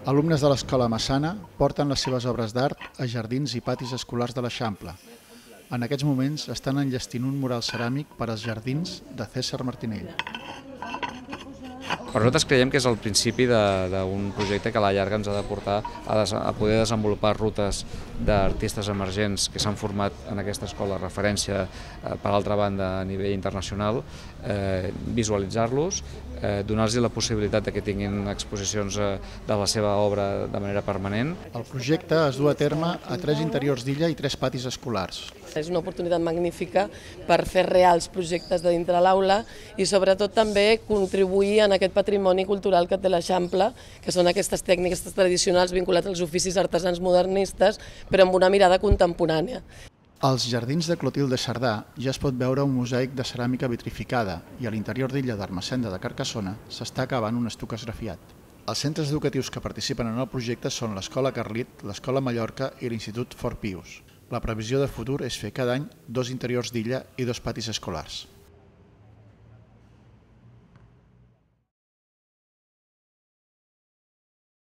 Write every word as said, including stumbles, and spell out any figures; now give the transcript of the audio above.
Alumnes de l'Escola Massana porten les seves obres d'art a jardins i patis escolars de l'Eixample. En aquests moments estan enllestint un mural ceràmic per als jardins de César Martinell. Per nosaltres creiem que és el principi d'un projecte que a la llarga ens ha de portar a, a poder desenvolupar rutes d'artistes emergents que s'han format en aquesta escola de referència, eh, per altra banda, a nivell internacional, eh, visualitzar-los, eh, donar-los la possibilitat de que tinguin exposicions eh, de la seva obra de manera permanent. El projecte es du a terme a tres interiors d'illa i tres patis escolars. És una oportunitat magnífica per fer reals projectes de dintre l'aula i sobretot també contribuir en aquest patrimoni cultural que té l'Eixample, que són aquestes tècniques tradicionals vinculades als oficis artesans modernistes, però amb una mirada contemporània. Als jardins de Clotilde Cerdà ja es pot veure un mosaic de ceràmica vitrificada i a l'interior d'illa d'Ermessenda de Carcassona s'està acabant un estuc esgrafiat. Els centres educatius que participen en el projecte són l'Escola Carlit, l'Escola Mallorca i l'Institut Fort Pius. La previsió de futur és fer cada any dos interiors d'illa i dos patis escolars.